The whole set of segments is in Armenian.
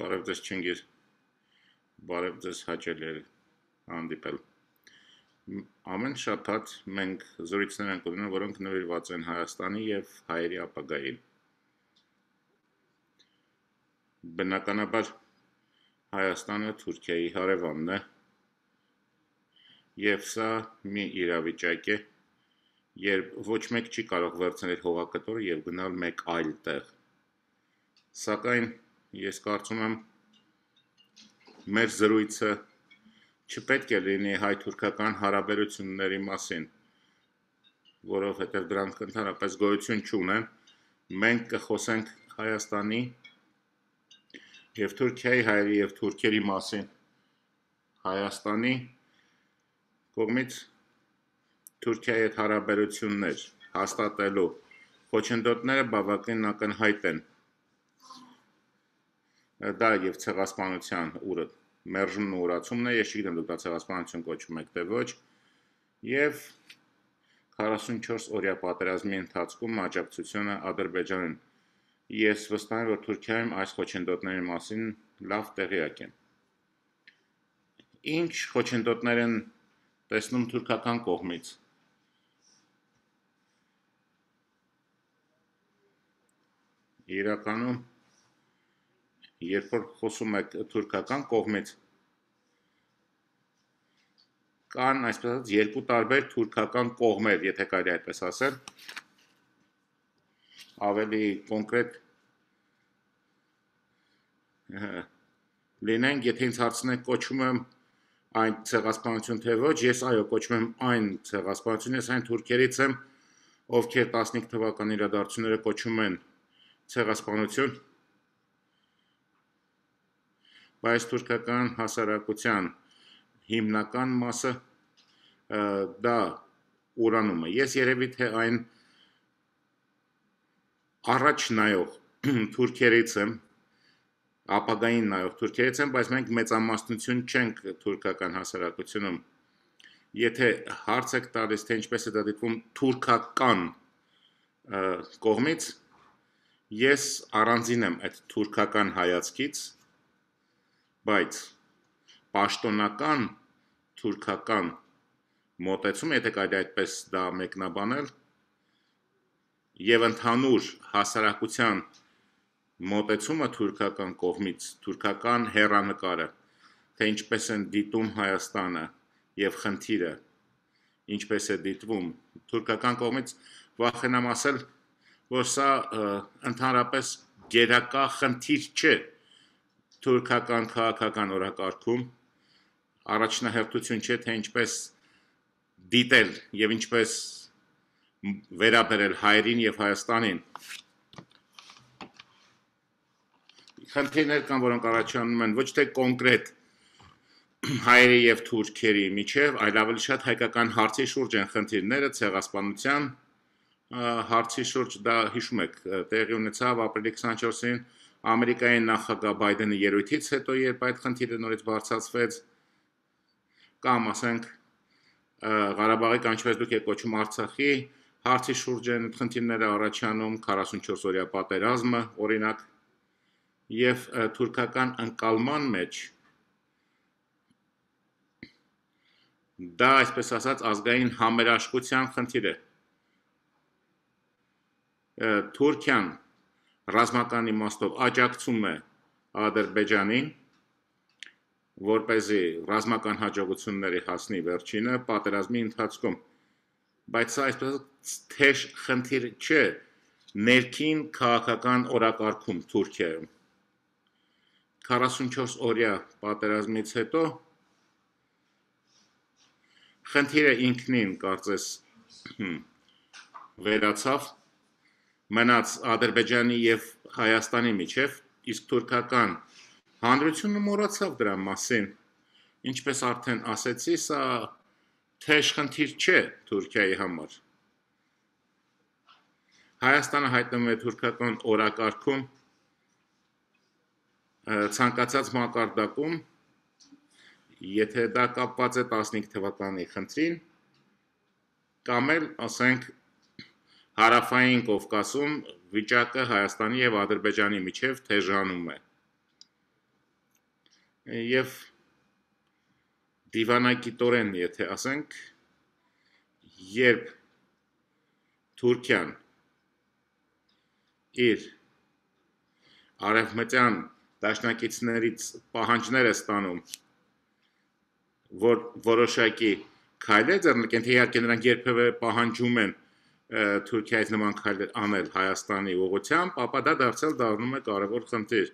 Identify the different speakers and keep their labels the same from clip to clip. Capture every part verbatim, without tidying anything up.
Speaker 1: Բարև ձեզ Չինգիզ, բարև ձեզ հաճելի հանդիպել։ Ամեն շաբաթ մենք զրույցներ ենք ունենում, որոնք նվիրված են Հայաստանի եւ հայերի ապագային։ Բնականաբար Հայաստանը Թուրքիայի հարևանն է, եւ սա մի իրավիճակ է, երբ ոչ մեկ չի կարող վերցնել հողակտորը եւ գնալ մեկ այլ տեղ։ Սակայն ես կարծում եմ մեր զրույցը չպետք է լինի հայ-թուրքական հարաբերությունների մասին, որովհետև դրանք ընդհանրապես գոյություն չունեն։ Մենք կխոսենք Հայաստանի եւ Թուրքիայի հայերի եւ թուրքերի մասին։ Հայաստանի կողմից Թուրքիայի հետ հարաբերություններ հաստատելու խոչընդոտները բավականին ակնհայտ են։ Դա եւ ցեղասպանության ուռը մերժումն ու ուրացումն է, ես չգիտեմ դուք դա ցեղասպանություն կոչում եք թե ոչ, եւ քառասունչորս օրյա պատերազմի ընթացքում աջակցությունը Ադրբեջանին։ Ես վստահ եմ, որ Թուրքիայում այս խոչընդոտների մասին լավ տեղյակ են։ Ինչ խոչընդոտներ են տեսնում թուրքական կողմից։ Իրականում երբ որ խոսում եք թուրքական կողմից, կան այսպես ասած երկու տարբեր թուրքական կողմեր, եթե կարելի այդպես ասել, ավելի կոնկրետ լինենք, եթե ինձ հարցնեք կոչում եմ այն ցեղասպանություն թե ոչ, ես այո կոչում եմ այն ցեղասպանություն, ես այն թուրքերից եմ, ովքեր տասնհինգ թվականի իրադարձությունները կոչում են ցեղասպանություն, բայց թուրքական հասարակության հիմնական մասը դա ուրանում է։ Ես երևի թե այն առաջ նայող թուրքերից եմ, ապագային նայող թուրքերից եմ, բայց մենք մեծամասնություն չենք թուրքական հասարակությունում։ Եթե հարց եք տալիս, թե ինչպես է դա դիտվում թուրքական կողմից, ես առանձին եմ այդ թուրքական հայացքից, բայց պաշտոնական թուրքական մոտեցում, եթե կարելի այդպես դա մեկնաբանել, եւ ընդհանուր հասարակության մոտեցումը թուրքական կողմից, թուրքական հեռանկարը, թե ինչպես են դիտում Հայաստանը եւ խնդիրը, ինչպես է դիտվում թուրքական կողմից, վախենամ ասել, որ սա ընդհանրապես գերակա խնդիր չէ թուրքական քաղաքական օրակարգում, առաջնահերթություն չէ, թե ինչպես դիտել եւ ինչպես վերաբերել հայերին եւ Հայաստանին։ Խնդիրներ կան, որոնք առաջանում են ոչ թե կոնկրետ հայերի եւ թուրքերի միջեւ, այլ ավելի շատ հայկական հարցի շուրջ են խնդիրները, ցեղասպանության հարցի շուրջ, դա հիշում եք, տեղի ունեցավ ապրիլի քսանչորսին Ամերիկայի նախագահ Բայդենի ելույթից հետո, երբ այդ խնդիրը նորից բարձրացվեց, կամ ասենք Ղարաբաղի կանչվեց դուք եք կոչում Արցախի հարցի շուրջ են խնդիրները առաջանում, քառասունչորս օրյա պատերազմը, օրինակ, եւ թուրքական ընկալման մեջ դա, այսպես ասած, ազգային համերաշխության խնդիր է։ Թուրքիան ռազմական իմաստով աջակցում է Ադրբեջանին, որպեսզի ռազմական հաջողությունների հասնի վերջինը պատերազմի ընթացքում, բայց սա այսպես թեժ խնդիր չէ ներքին քաղաքական օրակարգում Թուրքիայում։ քառասունչորս օրյա պատերազմից հետո խնդիրը ինքնին կարծես վերացավ, մնաց Ադրբեջանի եւ Հայաստանի միջեւ, իսկ թուրքական հանրությունը մոռացավ դրա մասին։ Ինչպես արդեն ասեցի, սա թեժ խնդիր չէ Թուրքիայի համար։ Հայաստանը հայտնվում է թուրքական օրակարգում, ցանկացած մակարդակում, եթե դա կապված է տասնհինգ թվականի խնդրին, կամ էլ, ասենք, հարավային Կովկասում վիճակը Հայաստանի եւ Ադրբեջանի միջեւ թեժանում է։ եւ դիվանագիտորեն, եթե ասենք, երբ Թուրքիան իր արևմտյան դաշնակիցներից պահանջներ է ստանում, որ որոշակի քայլեր ձեռնարկեն, թե իհարկե նրանք երբևէ պահանջում են Թուրքիայից նման քայլեր անել Հայաստանի ուղղությամբ, ապա դա դարձյալ դառնում է կարևոր խնդիր։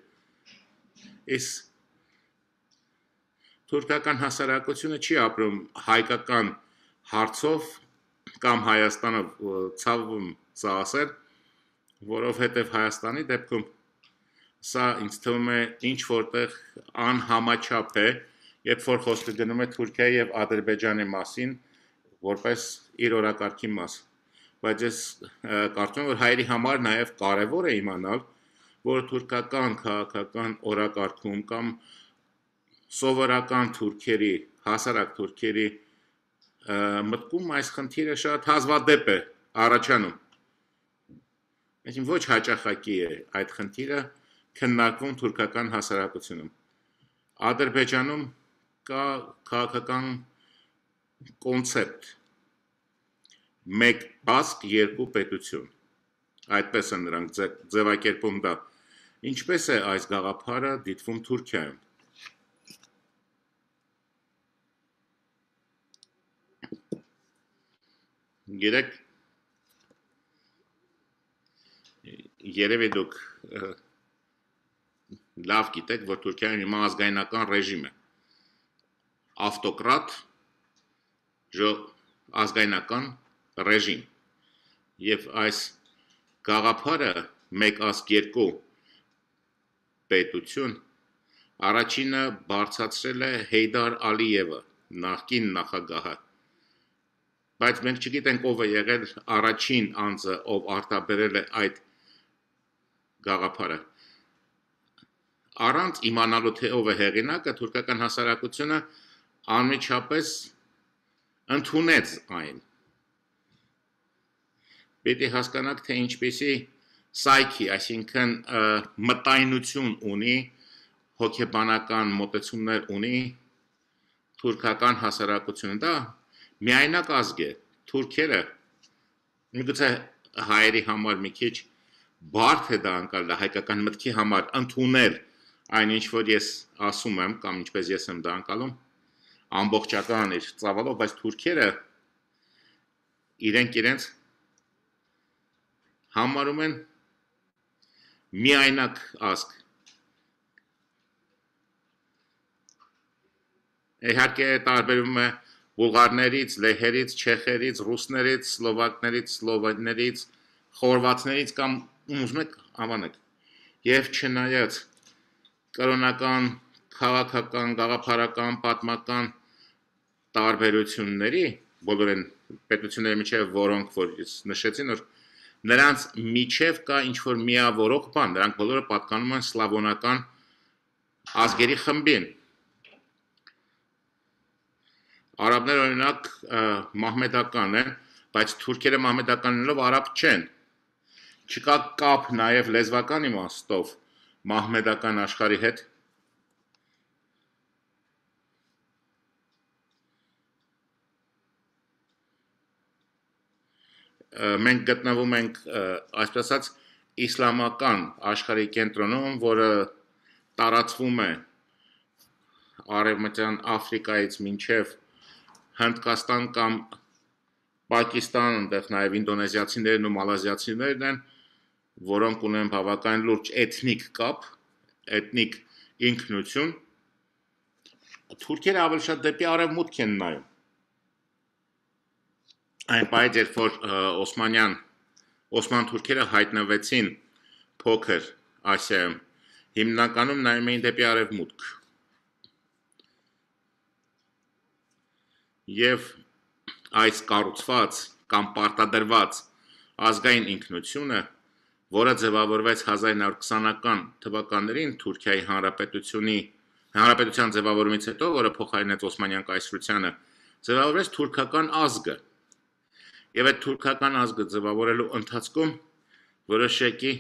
Speaker 1: Իսկ թուրքական հասարակությունը չի ապրում հայկական հարցով կամ Հայաստանը ցավում սա ասել, որովհետև Հայաստանի դեպքում սա ինձ թվում է ինչ որտեղ անհամաչափ է, երբ որ խոսքը գնում է Թուրքիայի եւ Ադրբեջանի մասին, որպես իր օրակարգի մաս։ Բայց ես կարծում եմ, որ հայերի համար նաև կարևոր է իմանալ, որ թուրքական քաղաքական օրակարգում կամ սովորական թուրքերի, հասարակ թուրքերի մտքում այս խնդիրը շատ հազվադեպ է առաջանում։ Այսինքն ոչ հաճախակի է այդ խնդիրը քննարկվում թուրքական հասարակությունում։ Ադրբեջանում կա քաղաքական կոնցեպտ մեկ ազգ, երկու պետություն։ Այդպես են նրանք ձևակերպում դա։ Ինչպես է այս գաղափարը դիտվում Թուրքիայում։ Գիտեք, երևի դուք լավ գիտեք, որ Թուրքիայում հիմա ազգայնական ռեժիմ է։ Ավտոկրատ, ազգայնական ռեժիմ։ Եվ այս գաղափարը մեկ ազգ երկու պետություն առաջինը բարձրացրել է Հեյդար Ալիևը, նախկին նախագահը։ Բայց մենք չգիտենք ով է եղել առաջին անձը, ով արտաբերել է այդ գաղափարը։ Առանց իմանալու թե ով է հեղինակը, թուրքական հասարակությունը անմիջապես ընդունեց այն։ Պետք է հասկանաք, թե ինչպեսի սայքի, այսինքն մտայնություն ունի, հոգեբանական մոտեցումներ ունի թուրքական հասարակությունը։ Դա միայնակ ազգ է, թուրքերը, միգուցե հայերի համար մի քիչ բարդ է դա անցնել, հայկական մտքի համար ընդունել այն ինչ որ ես ասում եմ, կամ ինչպես ես եմ դա անցալում, ամբողջական իր ծավալով, բայց թուրքերը իրենք իրենց համարում են միայնակ ազգ։ Իհարկե տարբերվում է բուլղարներից, լեհերից, չեխերից, ռուսներից, սլովակներից, սլովեններից, խորվաթներից կամ ուզում եք անվանեք։ Եվ չնայած կրոնական, քաղաքական, գաղափարական, պատմական տարբերությունների, բոլոր են պետությունների միջև, որոնք որ նշեցին, որ նրանց միջև կա ինչ-որ միավորող բան, նրանք բոլորը պատկանում են սլավոնական ազգերի խմբին։ Արաբները օրինակ մահմեդական են, բայց թուրքերը մահմեդականներով արաբ չեն։ Չկա կապ նաև լեզվական իմաստով մահմեդական աշխարհի հետ։ Մենք գտնվում ենք, այսպես ասած, իսլամական աշխարհի կենտրոնում, որը տարածվում է Արևմտյան Աֆրիկայից մինչև Հնդկաստան կամ Պակիստան, այնտեղ նաև ինդոնեզիացիներն ու մալազիացիներն են, որոնք ունեն բավական լուրջ էթնիկ կապ, էթնիկ ինքնություն։ Թուրքերը ավելի շատ դեպի արևմուտք են նայում։ Այն պահից, երբ որ Օսմանյան, Օսման թուրքերը հայտնվեցին փոքր Ասիայում, հիմնականում նայում էին դեպի արևմուտք։ Եվ այս կառուցված կամ պարտադրված ազգային ինքնությունը, որը ձևավորվեց հազար նոր քսանական թվականներին Թուրքիայի հանրապետությունի հանրապետության ձևավորումից հետո, որը փոխարինեց Օսմանյան կայսրությանը, ձևավորվեց թուրքական ազգը։ Եվ այդ թուրքական ազգը ձևավորելու ընթացքում որոշակի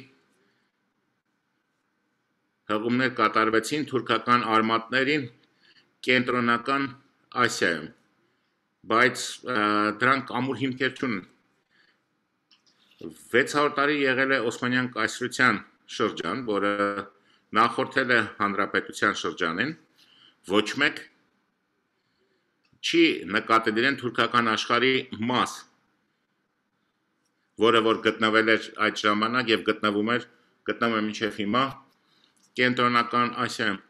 Speaker 1: հղումներ կատարվեցին թուրքական արմատներին կենտրոնական Ասիայում, բայց դրանք ամուր հիմքեր չունեն։ վեց հարյուր տարի եղել է Օսմանյան կայսրության շրջան, որը նախորդել է հանրապետության շրջանին, ոչ մեկ չի նկատել իրեն թուրքական աշխարհի մաս, որը որ գտնվել էր այդ ժամանակ եւ գտնվում էր, գտնվում է մինչեւ հիմա կենտրոնական Ասիայում։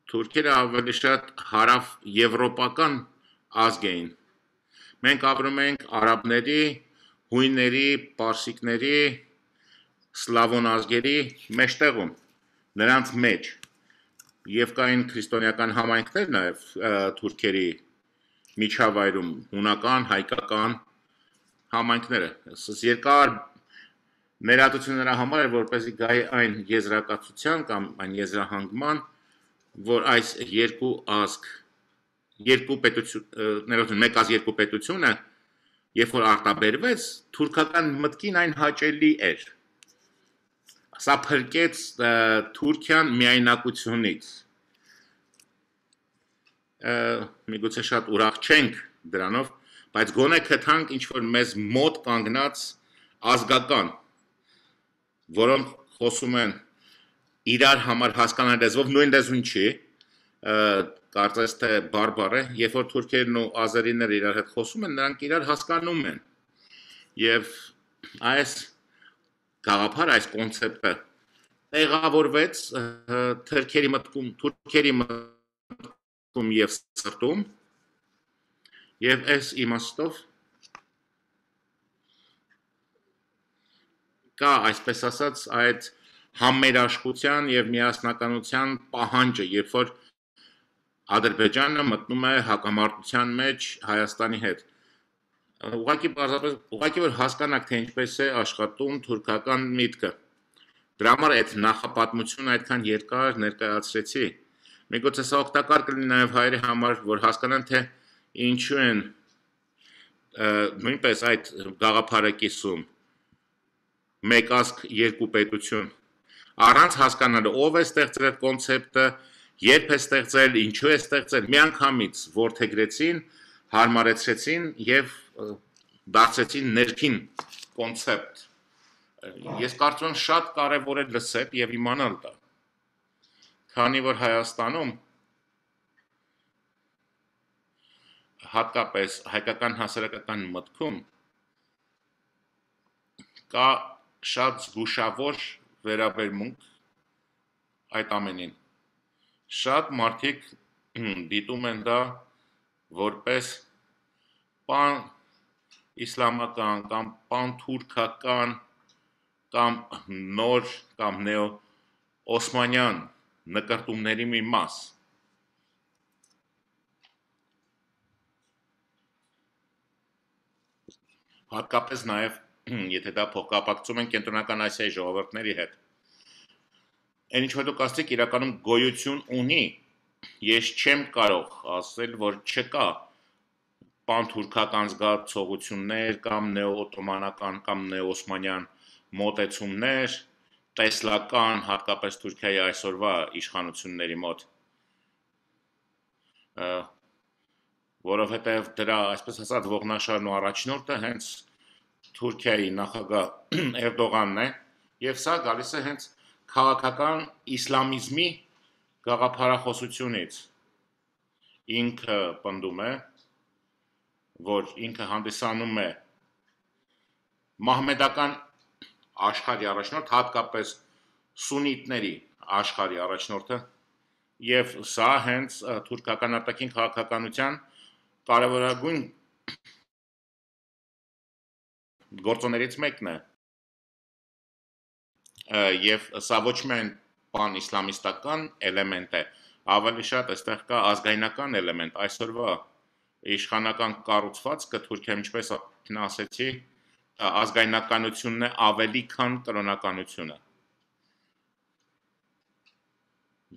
Speaker 1: Թուրքերը ավելի շատ հարավ եվրոպական ազգ էին։ Մենք ապրում ենք արաբների, հույների, պարսիկների, սլավոն ազգերի մեջտեղում, նրանց մեջ, եւ կային քրիստոնեական համայնքներ նաեւ թուրքերի միջավայրում, հունական, հայկական համայնքները։ Երկար ներածություն նրա համար էր, որպեսզի գայի այն եզրակացության կամ այն եզրահանգման, որ այս երկու ազգ, երկու պետություն, մեկ ազգ երկու պետությունը, երբ որ արտաբերվեց, թուրքական մտքին այն հաճելի էր։ Սա փրկեց Թուրքիան միայնակությունից։ Միգուցե շատ ուրախ չենք դրանով, բայց գոնե գտանք ինչ-որ մեզ մոտ կանգնած ազգական, որոնք խոսում են իրար համար հասկանալ լեզվով, նույն լեզուն չի, կարծես թե բարբար է, երբ որ թուրքերն ու ազերիները իրար հետ խոսում են, նրանք իրար հասկանում են։ Եվ այս գաղափար, այս կոնցեպտը տեղավորվեց թուրքերի մտքում, թուրքերի մտքում եւ սրտում, եւ այս իմաստով կա, այսպես ասած, այդ համերաշխության եւ միասնականության պահանջը, երբ որ Ադրբեջանը մտնում է հակամարտության մեջ Հայաստանի հետ։ Ուղղակի բարձրապես, ուղղակի որ հասկանաք, թե ինչպես է աշխատում թուրքական միտքը։ Դրա համար այդ նախապատմությունը այդքան երկար ներկայացրեցի։ Միգուցե սա օգտակար կլինի նաեւ հայերի համար, որ հասկանան, թե ինչու են նույնպես այդ գաղափարը կիսում մեկ ազգ երկու պետություն։ Առանց հասկանալու ով է ստեղծել այդ կոնցեպտը, երբ է ստեղծել, ինչու է ստեղծել, միանգամից որդեգրեցին, հարմարեցրեցին եւ դարձրեցին ներքին կոնցեպտ։ Ես կարծում եմ շատ կարեւոր է լսել եւ իմանալ դա։ Քանի որ Հայաստանում հատկապես հայկական հասարակական մտքում կա շատ զգուշավոր վերաբերմունք այդ ամենին։ Շատ մարդիկ դիտում են դա որպես պան իսլամական կամ պան թուրքական կամ նոր կամ նեո օսմանյան նկարտումների մի մաս։ Հատկապես նաև, եթե դա փոխկապակցում են կենտրոնական Ասիայի ժողովուրդների հետ։ Այն ինչ որ դուք ասեք իրականում գոյություն ունի, ես չեմ կարող ասել, որ չկա պանթուրքական զգացողություններ կամ նեոօտոմանական կամ նեոօսմանյան մոտեցումներ, տեսլական, հատկապես Թուրքիայի այսօրվա իշխանությունների մոտ, որովհետև դրա, այսպես ասած, ողնաշարն ու առաջնորդը հենց Թուրքիայի նախագահ Էրդողանն է, եւ սա գալիս է հենց քաղաքական իսլամիզմի գաղափարախոսությունից։ Ինքը պնդում է, որ ինքը հանդիսանում է մահմեդական աշխարհի առաջնորդ, հատկապես սուննիտների աշխարհի առաջնորդը, եւ սա հենց թուրքական արտաքին քաղաքականության կարևորագույն գործոններից մեկն է։ Եվ սա ոչ միայն պան-իսլամիստական էլեմենտ է, ավելի շատ այստեղ կա ազգայնական էլեմենտ, այսօրվա իշխանական կառուցվածքը Թուրքիայում, ինչպես ասեցի, ազգայնականությունն է ավելի քան կրոնականությունը։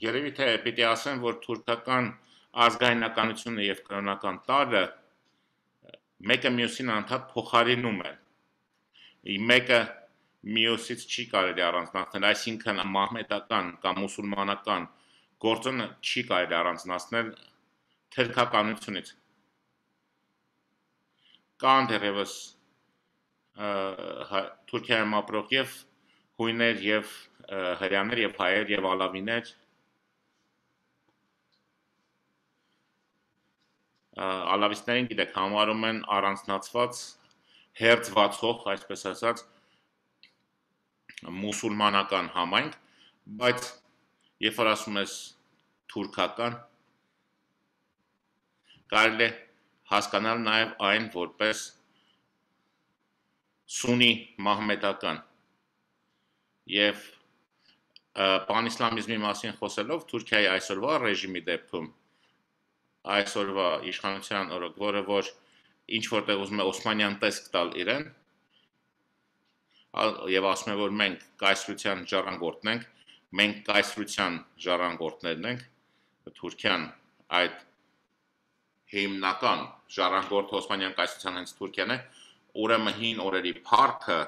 Speaker 1: Երևի թե պիտի ասեմ, որ թուրքական ազգայնականությունը եւ կրոնական տարրը մեկը մյուսին անդադ փոխարինում են։ Մեկը մյուսից չի կարելի առանձնացնել, այսինքն մահմեդական կամ մուսուլմանական գործոնը չի կարելի առանձնացնել թերքականությունից։ Կան դեռևս Թուրքիայում ապրող եւ հույներ եւ հրեաներ եւ հայեր եւ ալավիներ, ալավիստներին գիտեք համարում են առանձնացված հերձվածող, այսպես ասած, մուսուլմանական համայնք, բայց երբ որ ասում ես թուրքական, կարելի է հասկանալ նաև այն որպես սունի մահմեդական եւ պանիսլամիզմի մասին խոսելով Թուրքիայի այսօրվա ռեժիմի դեպքում այսօրվա իշխանության օրոք, որը որ ինչ որտեղ ուզում է օսմանյան տեսք տալ իրեն եւ ասում է որ մենք կայսրության ժառանգորդն ենք, մենք կայսրության ժառանգորդներն ենք, Թուրքիան այդ հիմնական ժառանգորդը օսմանյան կայսրության հենց Թուրքիան է, ուրեմն հին օրերի փառքը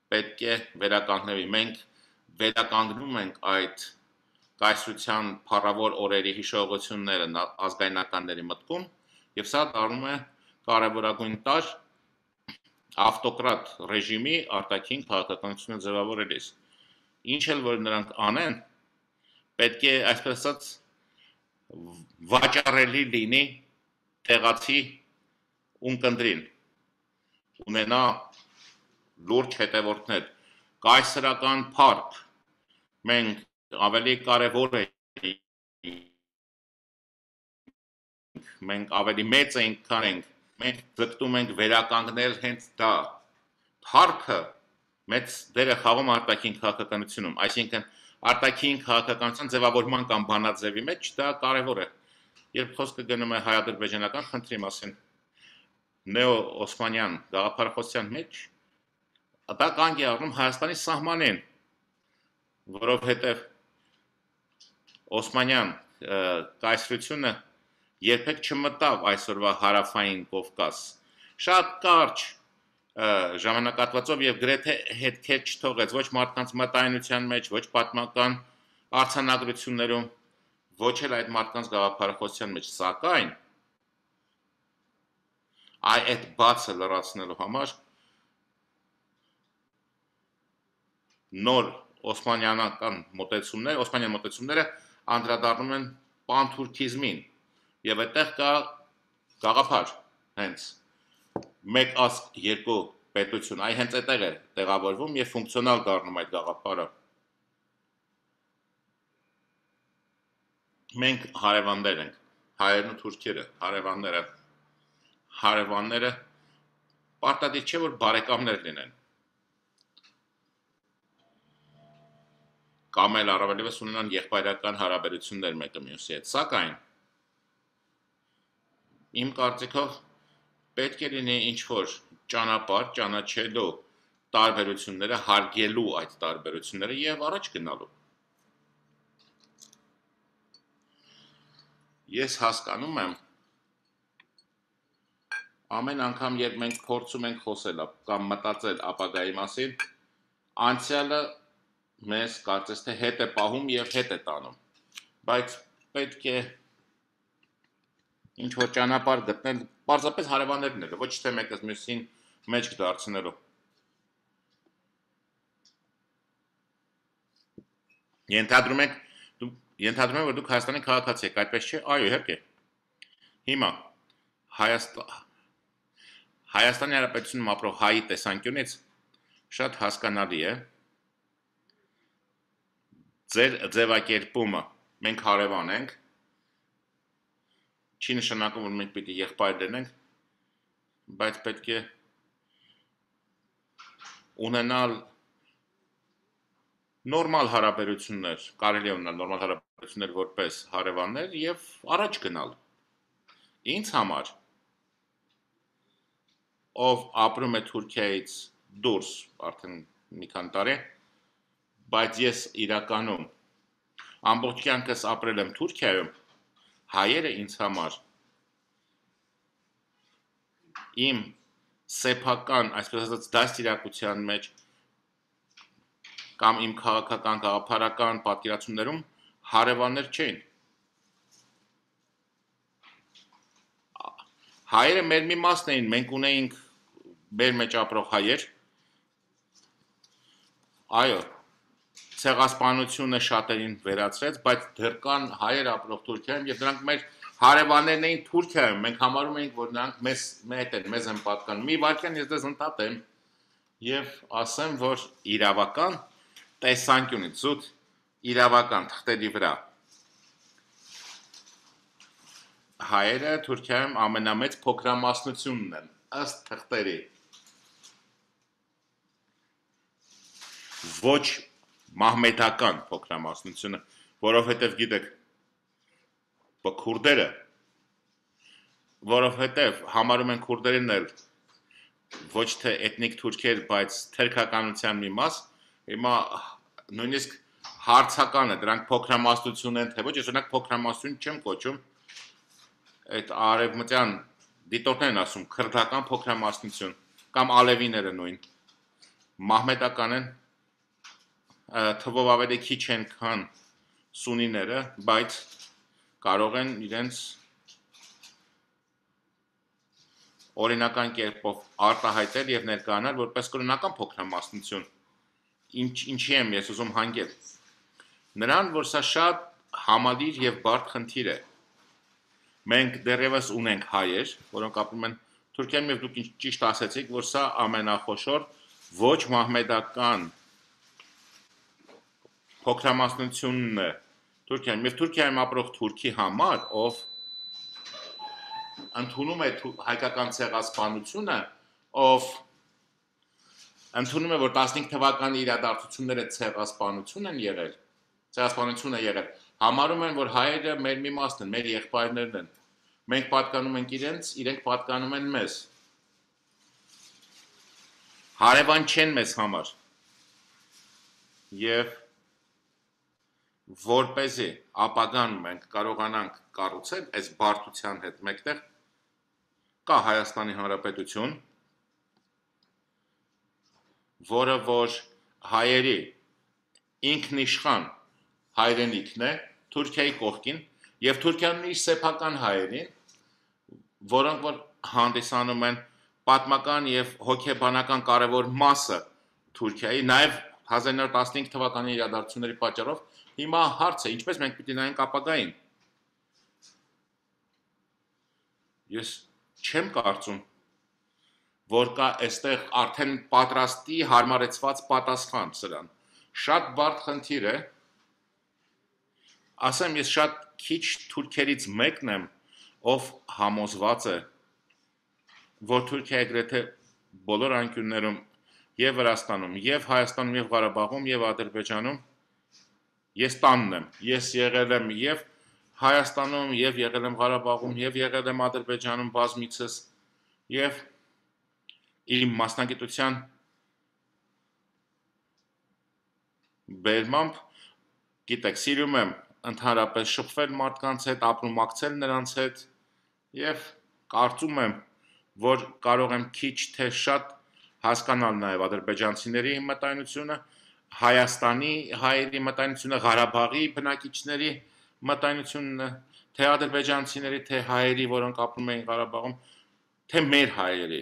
Speaker 1: պետք է վերականգնվի, մենք վերականգնում ենք այդ կայսրության փառավոր օրերի հիշողությունները ազգայնականների մտքում եւ սա դառնում է կարևորագույն տարր ավտոկրատ ռեժիմի արտաքին քաղաքականությունը ձևավորելիս։ Ինչ էլ որ նրանք անեն, պետք է այսպես ասած վաճառելի լինի տեղացի ունկնդրին, ունենա լուրջ հետևորդներ, կայսրական փառք, մենք ավելի կարևոր է, մենք ավելի մեծ ենք, քան ենք, մենք ձգտում ենք վերականգնել հենց դա, փառքը մեծ դեր է խաղում արտաքին քաղաքականությունում, այսինքն արտաքին քաղաքականության ձևավորման կամ բանաձևի մեջ դա կարևոր է, երբ խոսքը գնում է հայ-ադրբեջանական խնդրի մասին, նեո-օսմանյան գաղափարախոսության մեջ, դա կանգ է առնում Հայաստանի սահմանին, որովհետև օսմանյան կայսրությունը երբեք չմտավ այսօրվա հարավային Կովկաս, շատ կարճ ժամանակատվածով եւ գրեթե հետքեր չթողեց ոչ մարդկանց մտայնության մեջ, ոչ պատմական արձանագրություններում, ոչ էլ այդ մարդկանց գաղափարախոսության մեջ, սակայն այ այդ բացը լրացնելու համար նոր օսմանյանական մոտեցումներ, օսմանյան մոտեցումները անդրադառնում են պանթուրքիզմին եւ այդտեղ կա գաղափար հենց մեկ ազգ երկու պետություն, այ հենց այդտեղ է տեղավորվում եւ ֆունկցիոնալ դառնում այդ գաղափարը։ Մենք հարևաններ ենք, հայերն ու թուրքերը, հարևանները, հարևանները պարտադիր չէ որ բարեկամներ լինեն։ Կամ էլ առավելևս ունենան եղբայրական հարաբերություններ մեկը մյուսի հետ, սակայն իմ կարծիքով պետք է լինի ինչ-որ ճանապարհ ճանաչելու տարբերությունները, հարգելու այդ տարբերությունները եւ առաջ գնալու։ Ես հասկանում եմ ամեն անգամ երբ մենք փորձում ենք խոսել կամ մտածել ապագայի մասին, անցյալը մեզ կարծես թե հետ է պահում եւ հետ է տանում, բայց պետք է ինչ որ ճանապարհ գտնել, պարզապես հարևաններ լինելու, ոչ թե մեկը մյուսին մեջք դարձնելու։ Ենթադրում եք, ենթադրում եմ, որ դուք Հայաստանի քաղաքացի եք, այդպես չէ, այո, իհարկե։ Հիմա Հայաստան Հայաստանի Հանրապետությունում ապրող հայի տեսանկյունից շատ հասկանալի է ձեր ձևակերպումը, մենք հարևան ենք, չի նշանակում, որ մենք պիտի եղբայր լինենք, բայց պետք է ունենալ նորմալ հարաբերություններ, կարելի է ունենալ նորմալ հարաբերություններ որպես հարևաններ եւ առաջ գնալ։ Ինձ համար ով ապրում է Թուրքիայից դուրս արդեն մի քանի տարի, բայց ես իրականում ամբողջ կյանքս ապրել եմ Թուրքիայում, հայերը ինձ համար իմ սեփական, այսպես ասած, դաստիարակության մեջ կամ իմ քաղաքական գաղափարական պատկերացումներում հարևաններ չէին։ Հայերը մեր մի մասն էին, մենք ունեինք մեր մեջ ապրող հայեր, այո, ցեղասպանությունը շատերին վերացրեց, բայց դեռ կան հայեր ապրող Թուրքիայում եւ դրանք մեր հարևաններն էին Թուրքիայում, մենք համարում էինք, որ նրանք մեզ մեծ են, մեզ են պատկանում։ Մի վարքյան ես դες ընդհատեմ եւ ասեմ, որ իրավական տեսանկյունից զուտ իրավական թղթերի վրա հայերը Թուրքիայում ամենամեծ փոքրամասնությունն են, ըստ թղթերի։ Ոչ մահմեդական փոքրամասնությունը, որովհետև գիտեք, քուրդերը, որովհետև համարում են քուրդերին էլ ոչ թե էթնիկ թուրքեր, բայց թերքականության մի մաս, հիմա նույնիսկ հարցական է, դրանք փոքրամասնություն են, թե ոչ, ես օրինակ փոքրամասնություն չեմ կոչում, այդ արևմտյան դիտորդներն ասում քրդական փոքրամասնություն կամ ալևիները նույն մահմեդական են, թվով ավելի քիչ են քան սունիները, բայց կարող են իրենց օրինական կերպով արտահայտել եւ ներկայանալ որպես կրոնական փոքրամասնություն։ Ինչ ինչի եմ ես ուզում հանգել։ Նրան, որ սա շատ համալիր եւ բարդ խնդիր է։ Մենք դեռևս ունենք հայեր, որոնք ապրում են Թուրքիայում եւ դուք ճիշտ ասացիք, որ սա ամենախոշոր ոչ մահմեդական փոքրամասնությունն է Թուրքիայում եւ Թուրքիայում ապրող թուրքի համար, ով ընդունում է հայկական ցեղասպանությունը, ով ընդունում է, որ տասնհինգ թվականի իրադարձությունները ցեղասպանություն են եղել, ցեղասպանություն է եղել, համարում են, որ հայերը մեր մի մասն են, մեր եղբայրներն են։ Մենք պատկանում ենք իրենց, իրենք պատկանում են մեզ։ Հարևան չեն մեզ համար։ Եվ որպեսզի ապագան մենք կարողանանք կառուցել այս բարդության հետ մեկտեղ, կա Հայաստանի Հանրապետություն, որը որ հայերի ինքնիշխան հայրենիքն է Թուրքիայի կողքին եւ Թուրքիան իր սեփական հայերին, որոնք որ հանդիսանում են պատմական եւ հոգեբանական կարևոր մասը Թուրքիայի, նաեւ հազար իննսուն տասնհինգ թվականի իրադարձությունների պատճառով հիմա հարց է, ինչպես մենք պիտի նայենք ապագային։ Ես չեմ կարծում, որ կա այստեղ արդեն պատրաստի հարմարեցված պատասխան սրան։ Շատ բարդ խնդիր է։ Ասեմ, ես շատ քիչ թուրքերից մեկն եմ, ով համոզված է, որ Թուրքիայի գրեթե բոլոր անկյուններում եւ Վրաստանում, եւ Հայաստանում, եւ Ղարաբաղում, եւ Ադրբեջանում ես տանն եմ։ Ես եղել եմ եւ Հայաստանում, եւ եղել եմ Ղարաբաղում, եւ եղել եմ Ադրբեջանում բազմիցս, եւ իմ մասնագիտության բերմամբ, գիտեք, սիրում եմ ընդհանրապես շփվել մարդկանց հետ, ապրումակցել նրանց հետ եւ կարծում եմ, որ կարող եմ քիչ թե շատ հասկանալ նաեւ ադրբեջանցիների մտայնությունը, Հայաստանի հայերի մտայնությունը, Ղարաբաղի բնակիչների մտայնությունը, թե ադրբեջանցիների, թե հայերի, որոնք ապրում էին Ղարաբաղում, թե մեր հայերի։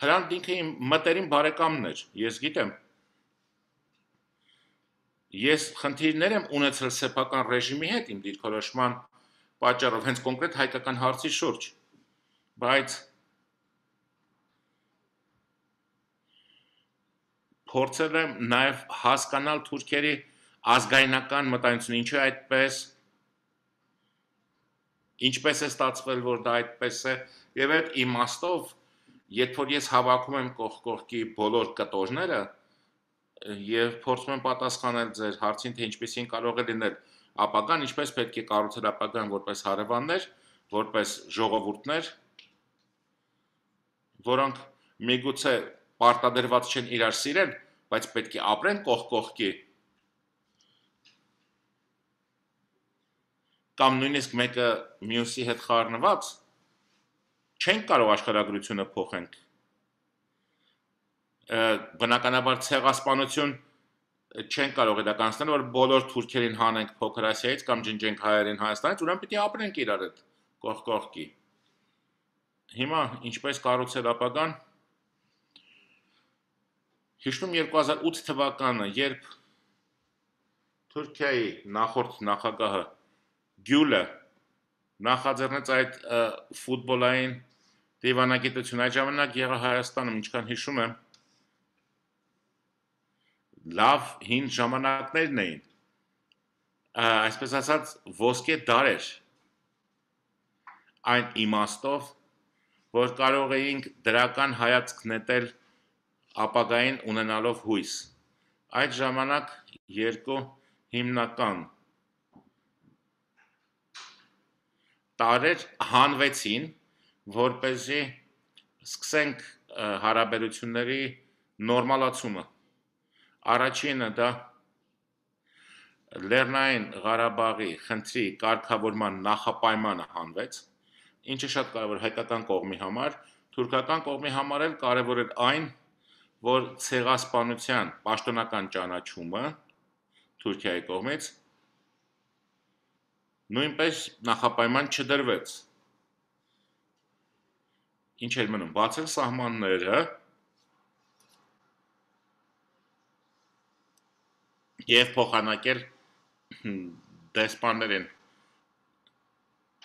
Speaker 1: Հրանտ ինքը իմ մտերիմ բարեկամն էր, ես գիտեմ։ Ես խնդիրներ եմ ունեցել սեփական ռեժիմի հետ իմ դիրքորոշման պատճառով, հենց կոնկրետ հայկական հարցի շուրջ, բայց փորձել եմ նաև հասկանալ թուրքերի ազգայնական մտայնությունը, ինչու է այդպես, ինչպես է ստացվել, որ դա այդպես է, եւ այդ իմաստով, երբ որ ես հավաքում եմ կողք-կողքի բոլոր կտորները, եւ փորձում եմ պատասխանել ձեր հարցին, թե ինչպեսին կարող է լինել ապագան, ինչպես պետք է կառուցել ապագան որպես հարևաններ, որպես ժողովուրդներ, որոնք միգուցե պարտադրված չեն իրար սիրել, բայց պետք է ապրեն կողք-կողքի, կամ նույնիսկ մեկը մյուսի հետ խառնված, չենք կարող աշխարհագրությունը փոխենք։ Բնականաբար ցեղասպանություն չենք կարող իրականացնել, որ բոլոր թուրքերին հանենք Փոքր Ասիայից կամ ջնջենք հայերին Հայաստանից, ուրեմն պիտի ապրենք իրար հետ կողք կողքի։ Հիմա ինչպես կառուցել ապագան։ Հիշում երկու հազար ութ թվականը, երբ Թուրքիայի նախորդ նախագահը Գյուլը նախաձեռնեց այդ ֆուտբոլային դիվանագիտությունը, այդ ժամանակ եղա Հայաստանում, ինչքան հիշում եմ, լավ հին ժամանակներն էին, այսպես ասած ոսկե դարեր, այն իմաստով, որ կարող էինք դրական հայացք նետել ապագային ունենալով հույս։ Այդ ժամանակ երկու հիմնական տարեր հանվեցին, որպեսզի սկսենք հարաբերությունների նորմալացումը։ Առաջինը դա Լեռնային Ղարաբաղի խնդրի կարգավորման նախապայմանը հանվեց, ինչը շատ կարևոր հայկական կողմի համար, թուրքական կողմի համար էլ կարևոր էր այն, որ ցեղասպանության պաշտոնական ճանաչումը Թուրքիայի կողմից նույնպես նախապայման չդրվեց։ Ինչ էր մնում, բացել սահմանները և փոխանակել դեսպաններին։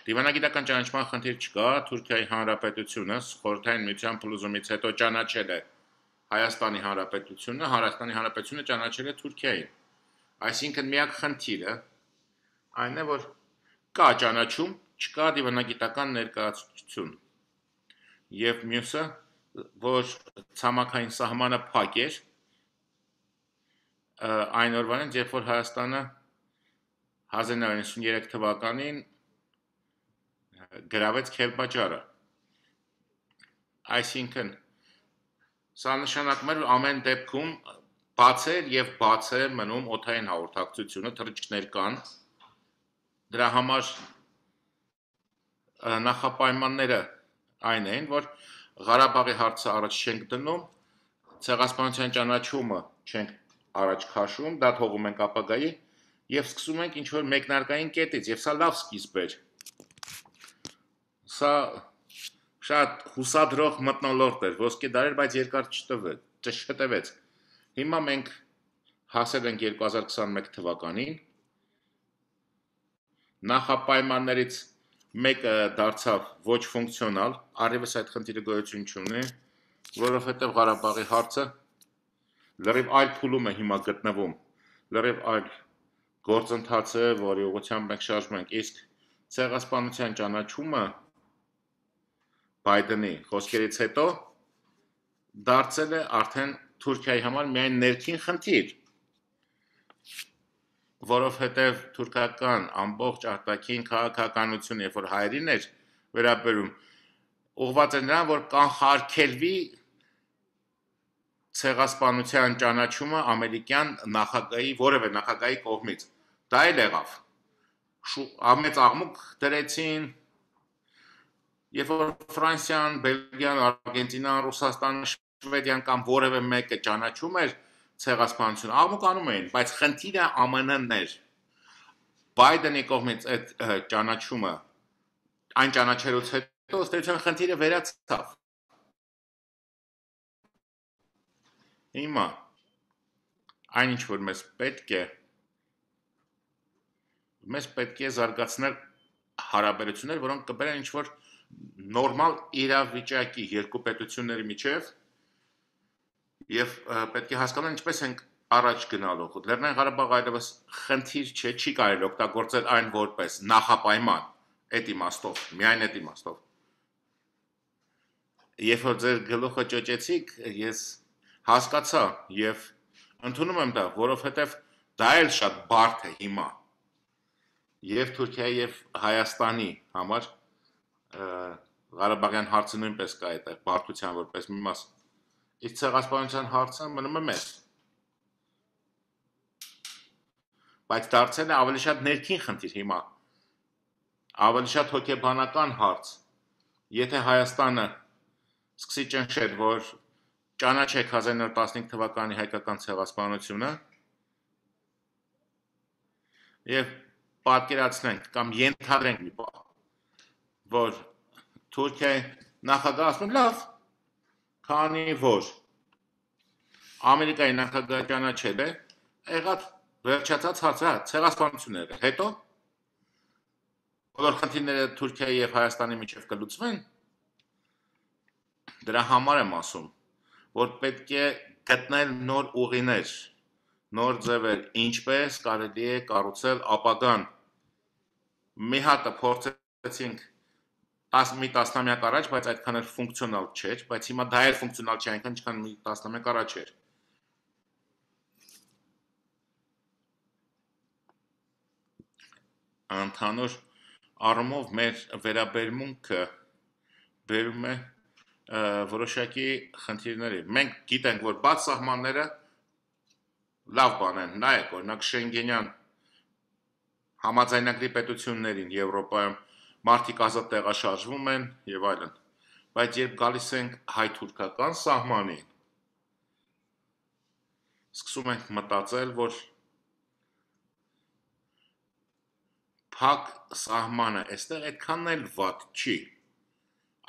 Speaker 1: Դիվանագիտական ճանաչման խնդիր չկա, Թուրքիայի Հանրապետությունը Խորհրդային Միության փլուզումից հետո ճանաչել է Հայաստանի Հանրապետությունը, Հայաստանի Հանրապետությունը ճանաչել է Թուրքիային։ Այսինքն միակ խնդիրը այն է, որ կա ճանաչում, չկա դիվանագիտական ներկայացություն։ Եվ մյուսը, որ ցամաքային սահմանը փակ էր, այն օրվանից, երբ որ Հայաստանը հազար նոյ հարյուր նվաթ թվականին գրավեց Քելբաջարը։ Այսինքն, սա նշանակում էր, որ ամեն դեպքում բաց էր և բաց է մնում օդային հաղորդակցությունը, թռիչքներ կան, դրա համար նախապայմանները այն էին, որ Ղարաբաղի հարցը առաջ չենք դնում, ցեղասպանության ճանաչումը չենք առաջ քաշում, դա թողում ենք ապագայի և սկսում ենք ինչ-որ մեկնարկային կետից, և սա լավ սկիզբ էր։ Սա շատ հուսադրող մթնոլորտ էր, ոսկե դարեր, բայց երկար չտևեց։ Հիմա մենք հասել ենք երկու հազար քսանմեկ թվականին, նախապայմաններից մեկը դարձավ ոչ ֆունկցիոնալ, առևս այդ խնդիրը գոյություն չունի, որովհետև Ղարաբաղի հարցը լրիվ այլ փուլում է հիմա գտնվում, լրիվ այլ գործընթաց է, որի ուղղությամբ մենք շարժվում ենք, իսկ ցեղասպանության ճանաչումը Բայդենի խոսքերից հետո դարձել է արդեն Թուրքիայի համար միայն ներքին խնդիր, որովհետև թուրքական ամբողջ արտաքին քաղաքականությունը, երբ որ հայերին էր վերաբերում, ուղղված էր նրան, որ կանխարգելվի ցեղասպանության ճանաչումը ամերիկյան նախագահի, որևէ նախագահի կողմից։ Դա էլ եղավ։ Մեծ աղմուկ դրեցին, երբ որ Ֆրանսիան, Բելգիան, Արգենտինան, Ռուսաստանը, Շվեդիան կամ որևէ մեկը ճանաչում էր ցեղասպանությունը, աղմուկ անում էին, բայց խնդիրը Α M N-ն էր։ Բայդենի կողմից այդ ճանաչումը, այն ճանաչելուց հետո ըստ էության խնդիրը վերացավ։ Հիմա այն ինչ որ մեզ պետք է, մեզ պետք է զարգացնել հարաբերություններ, որոնք կբերեն ինչ որ նորմալ իրավիճակի երկու պետությունների միջև եւ պետք է հասկանալ ինչպես ենք առաջ գնալու։ Լեռնային Ղարաբաղը այլևս խնդիր չէ, չի կարելի օգտագործել այն որպես նախապայման, այդ իմաստով, միայն այդ իմաստով։ Երբ որ ձեր գլուխը ճոճեցիք, ես հասկացա եւ ընդունում եմ դա, որովհետեւ դա էլ շատ բարդ է հիմա։ Եվ Թուրքիայի եւ Հայաստանի համար Ղարաբաղյան հարցը նույնպես կա այդտեղ բարդության որպես մի մաս։ Իսկ ցեղասպանության հարցը մնում է մեծ։ Բայց դարձել է ավելի շատ ներքին խնդիր հիմա։ Ավելի շատ հոգեբանական հարց։ եթե Հայաստանը սկսի ճնշել, որ ճանաչեք հազար նոր տասնհինգ թվականի հայկական ցեղասպանությունը եւ պատկերացնենք կամ ենթադրենք մի բան, որ Թուրքիայի նախագահը ասում է լավ, քանի որ Ամերիկայի նախագահը ճանաչել է, եղած վերջացած հարցը ցեղասպանությունները, հետո բոլոր խնդիրները Թուրքիայի եւ Հայաստանի միջեւ կլուծվեն, դրա համար եմ ասում, որ պետք է գտնել նոր ուղիներ, նոր ձևեր, ինչպես կարելի է կառուցել ապագան։ Մի հատը փորձեցինք մի տասնամյակ առաջ, բայց այդքան էլ ֆունկցիոնալ չէր, բայց հիմա դա էլ ֆունկցիոնալ չէ, այնքան ինչքան մի տասնամյակ առաջ էր։ Ընդհանուր առումով մեր վերաբերմունքը բերում է որոշակի խնդիրների։ Մենք գիտենք, որ բաց սահմանները լավ բան են, նայեք, օրինակ Շենգենյան համաձայնագրի պետություններին Եվրոպայում մարդիկ ազատ տեղաշարժվում են եւ այլն, բայց երբ գալիս ենք հայ-թուրքական սահմանին, սկսում ենք մտածել, որ փակ սահմանը այստեղ այդքան էլ վատ չի,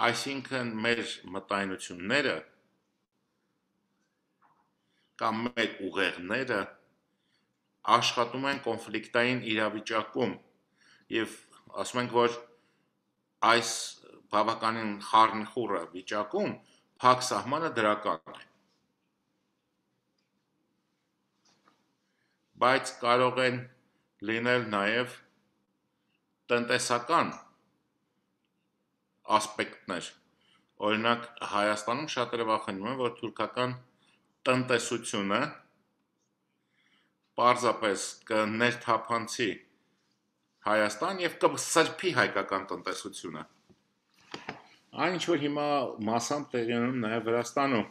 Speaker 1: այսինքն մեր մտայնությունները կամ մեր ուղեղները աշխատում են կոնֆլիկտային իրավիճակում եւ ասում ենք, որ այս բավականին խառնխուռը վիճակում փակ սահմանը դրական է, բայց կարող են լինել նաեւ տնտեսական ասպեկտներ, օրինակ Հայաստանում շատերը վախենում են, որ թուրքական տնտեսությունը պարզապես կներթափանցի Հայաստան եւ կսրբի հայկական տնտեսությունը։ Այն ինչ որ հիմա մասամբ տեղի ունենում նաեւ Վրաստանում։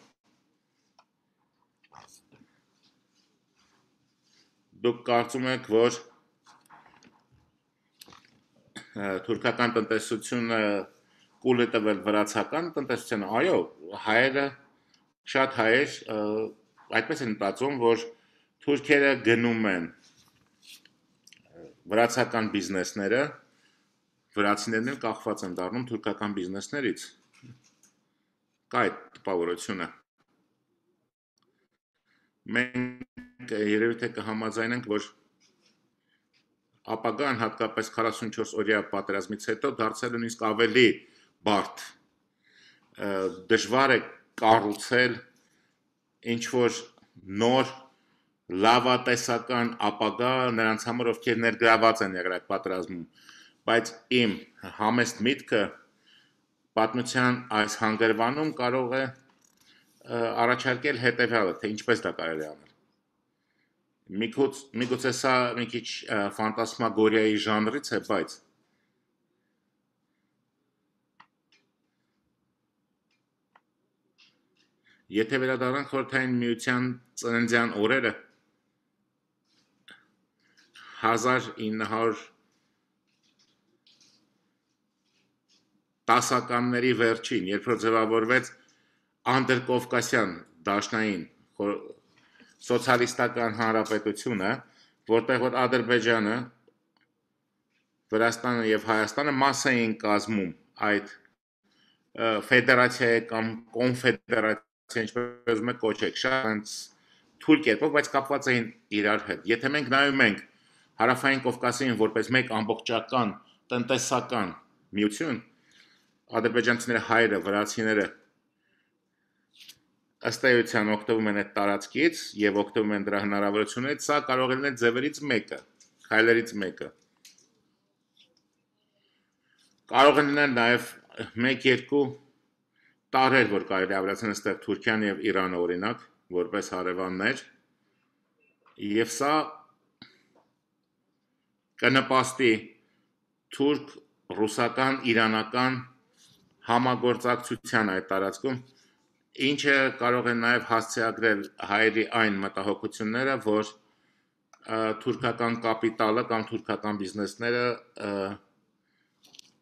Speaker 1: Դուք կարծում եք, որ թուրքական տնտեսությունը կուլ է տվել վրացական տնտեսությանը, այո, հայերը, շատ հայեր այդպես են մտածում, որ թուրքերը գնում են վրացական բիզնեսները, վրացիներն էլ կախված են դառնում թուրքական բիզնեսներից, կա այդ տպավորությունը։ Մենք երևի թե կհամաձայնենք, որ ապագան հատկապես քառասունչորս օրյա պատերազմից հետո դարձել է նույնիսկ ավելի բարդ, դժվար է կառուցել ինչ-որ նոր լավատեսական ապագա նրանց համար, ովքեր ներգրաված են եղել այդ պատերազմում, բայց իմ համեստ միտքը պատմության այս հանգրվանում կարող է առաջարկել հետևյալը, թե ինչպես դա կարելի է անել։ Միգուցե սա մի քիչ ֆանտասմագորիայի ժանրից է, բայց եթե վերադառնանք Խորհրդային Միության ծննդյան օրերը հազար ինը հարյուր տասականների վերջին, երբ որ ձևավորվեց անդրկովկասյան դաշնային սոցիալիստական հանրապետությունը, որտեղ որ Ադրբեջանը, Վրաստանը եւ Հայաստանը մաս էին կազմում այդ ֆեդերացիայի կամ կոնֆեդերացիայի, ինչպես ուզում եք կոչեք, շատ թույլ կերպով, բայց կապված էին իրար հետ։ Եթե մենք նայում ենք Հարավային Կովկասին որպես մեկ ամբողջական տնտեսական միություն, ադրբեջանցիները, հայերը, վրացիները ըստ էության օգտվում են այդ տարածքից եւ օգտվում են դրա հնարավորություններից, սա կարող է լինել ձևերից մեկը, քայլերից մեկը։ Կարող է լինել նաեւ մեկ-երկու տարեր, որ կարելի ավելացնել այստեղ Թուրքիան եւ Իրանը օրինակ, որպես հարևաններ, եւ սա կնպաստի թուրք, ռուսական, իրանական համագործակցության այդ տարածքում, ինչը կարող է նաև հասցեագրել հայերի այն մտահոգությունները, որ թուրքական կապիտալը կամ թուրքական բիզնեսները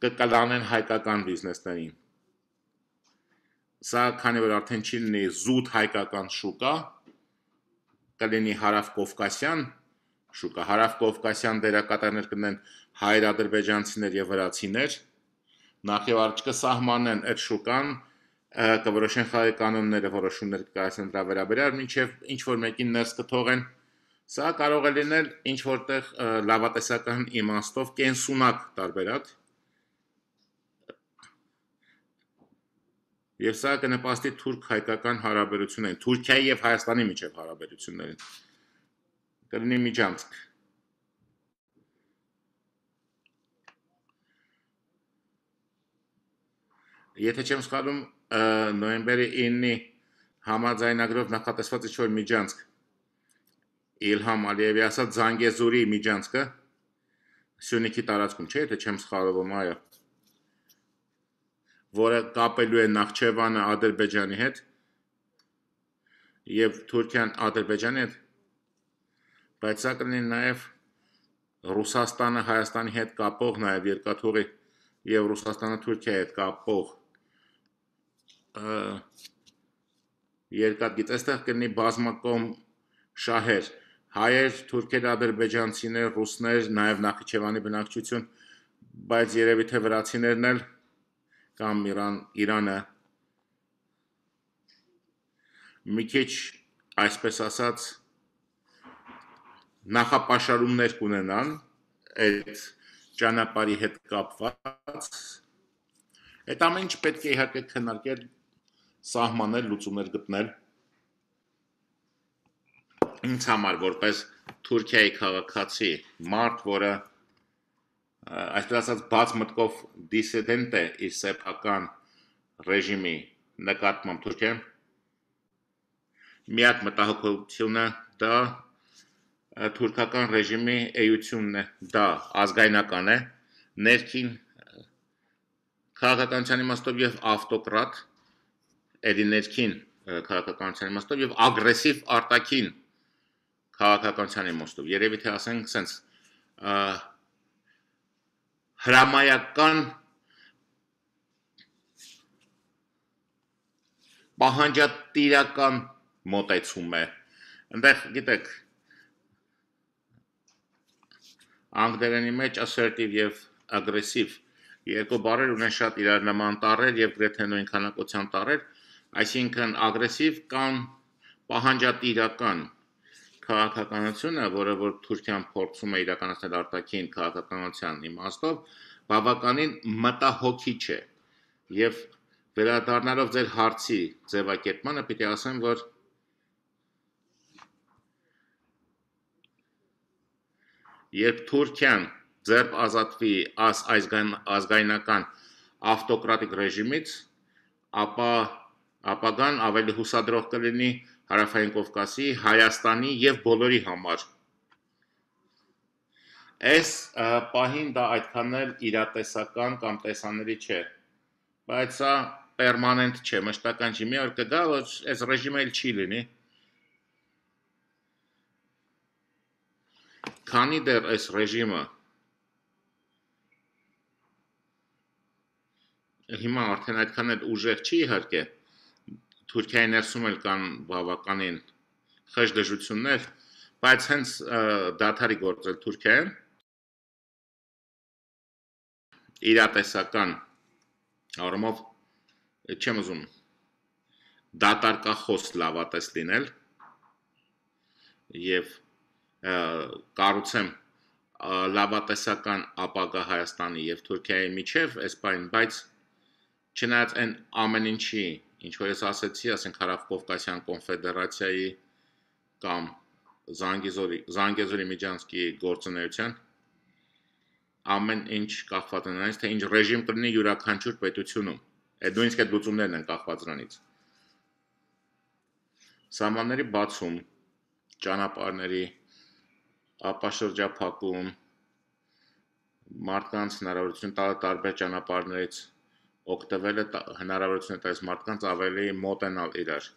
Speaker 1: կկլանեն հայկական բիզնեսներին։ Սա քանի որ արդեն չի լինի զուտ հայկական շուկա, կլինի հարավ-կովկասյան շուկա, հարավ-կովկասյան դերակատարներ կլինեն հայեր, ադրբեջանցիներ եւ վրացիներ, նախ եւ առաջ կսահմանեն այդ շուկան, կորոշեն խաղի կանոնները, որոշումներ կայացնեն դրա վերաբերյալ, մինչեւ ինչ որ մեկին ներս կթողեն, սա կարող է լինել ինչ որտեղ լավատեսական իմաստով կենսունակ տարբերակ, եւ սա կնպաստի թուրք-հայկական հարաբերություններին, Թուրքիայի եւ Հայաստանի միջեւ հարաբերություններին, կլինի միջանցք։ Եթե չեմ սխալվում, նոյեմբերի ինը համաձայնագրով նախատեսված ինչ-որ միջանցք Իլհամ Ալիևի ասած Զանգեզուրի միջանցքը Սյունիքի տարածքում չէ, եթե չեմ սխալվում, այո, որը կապելու է Նախճեվանը Ադրբեջանի հետ եւ Թուրքիան Ադրբեջանի հետ, բայց սա կլինի նաեւ Ռուսաստանը Հայաստանի հետ կապող նաեւ երկաթուղի եւ Ռուսաստանը Թուրքիայի հետ կապող երկաթգիծ, այստեղ կլինի բազմակողմ շահեր, հայեր, թուրքեր, ադրբեջանցիներ, ռուսներ, նաեւ Նախիջևանի բնակչություն, բայց երևի թե վրացիներն էլ կամ Իրան, Իրանը մի քիչ, այսպես ասած, նախապաշարումներ կունենան այդ ճանապարհի հետ կապված, այդ ամեն ինչ պետք է իհարկե քննարկել, սահմանել, լուծումներ գտնել։ Ինձ համար որպես Թուրքիայի քաղաքացի, մարդ, որը այսպես ասած բաց մտքով դիսիդենտ է իր սեփական ռեժիմի նկատմամբ Թուրքիայում, միակ մտահոգությունը դա թուրքական ռեժիմի էությունն է, դա ազգայնական է, ներքին քաղաքականության իմաստով եւ ավտոկրատ, էդի ներքին քաղաքականության իմաստով եւ ագրեսիվ արտաքին քաղաքականության իմաստով, երևի թե ասենք սենց հրամայական պահանջատիրական մոտեցում է, ընդեղ գիտեք, անգլերենի մեջ assertive եւ aggressive երկու բառեր ունեն շատ իրար նման տառեր եւ գրեթե նույն քանակության տառեր, այսինքն ագրեսիվ կամ պահանջատիրական քաղաքականությունը, որը որ Թուրքիան փորձում է իրականացնել արտաքին քաղաքականության իմաստով, բավականին մտահոգիչ է եւ վերադառնալով ձեր հարցի ձևակերպմանը պիտի ասեմ, որ երբ Թուրքիան ձեռք ազատվի այս ազգայնական ավտոկրատիկ ռեժիմից, ապա ապագան ավելի հուսադրող կլինի Հարավային Կովկասի, Հայաստանի եւ բոլորի համար։ Այս պահին դա այդքան էլ իրատեսական կամ տեսանելի չէ, բայց սա պերմանենտ չէ, մշտական չի, մի օր կգա, որ այս ռեժիմը էլ չի լինի։ Քանի դեռ այս ռեժիմը հիմա արդեն այդքան էլ ուժեղ չի իհարկե, Թուրքիայի ներսում էլ կան բավականին խեղճ դժվարություններ, բայց հենց դադարի գործել Թուրքիայում իրատեսական առումով չեմ ուզում դատարկախոս լավատես լինել եւ կառուցեմ լավատեսական ապագա Հայաստանի եւ Թուրքիայի միջև այս բան, բայց չնայած այն ամեն ինչի, ինչ որ ես ասեցի, ասենք Հարավ-Կովկասյան կոնֆեդերացիայի կամ Զանգեզուրի Զանգեզուրի միջանցքի գործունեության ամեն ինչ կախված է նրանից, թե ինչ ռեժիմ կլինի յուրաքանչյուր պետությունում։ Այդ նույնիսկ այդ լուծումներն են կախված նրանից։ Սահմանների բացում, ճանապարհների ապաշրջափակում, մարդկանց հնարավորություն տալը տարբեր ճանապարհներից օգտվելը հնարավորություն է տալիս մարդկանց ավելի մոտենալ իրար։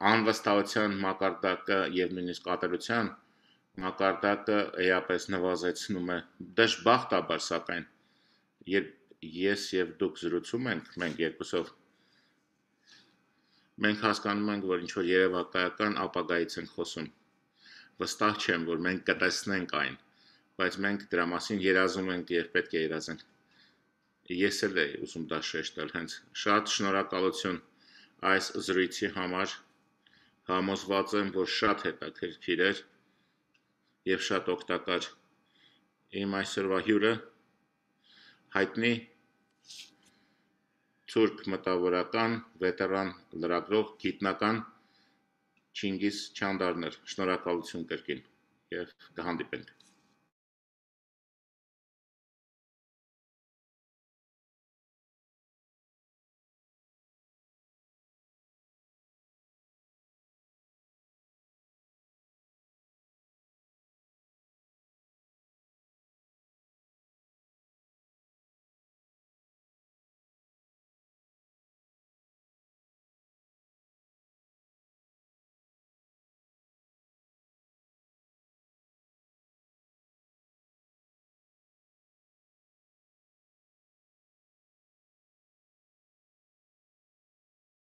Speaker 1: Անվստահության մակարդակը եւ նույնիսկ ատելության մակարդակը էապես նվազեցնում է, դժբախտաբար սակայն, երբ ես եւ դուք զրուցում ենք, մենք երկուսով, մենք հասկանում ենք, որ ինչ-որ երևակայական ապագայից ենք խոսում, վստահ չեմ, որ մենք կտեսնենք այն, բայց մենք դրա մասին երազում ենք եւ պետք է երազենք, ես էլ եմ ուզում դա շեշտել հենց, շատ շնորհակալություն այս զրույցի համար, համոզված եմ, որ շատ հետաքրքիր էր եւ շատ օգտակար իմ այսօրվա հյուրը հայտնի թուրք մտավորական, վետերան լրագրող, գիտնական Չինգիզ Չանդարն էր, շնորհակալություն կրկին եւ կհանդիպենք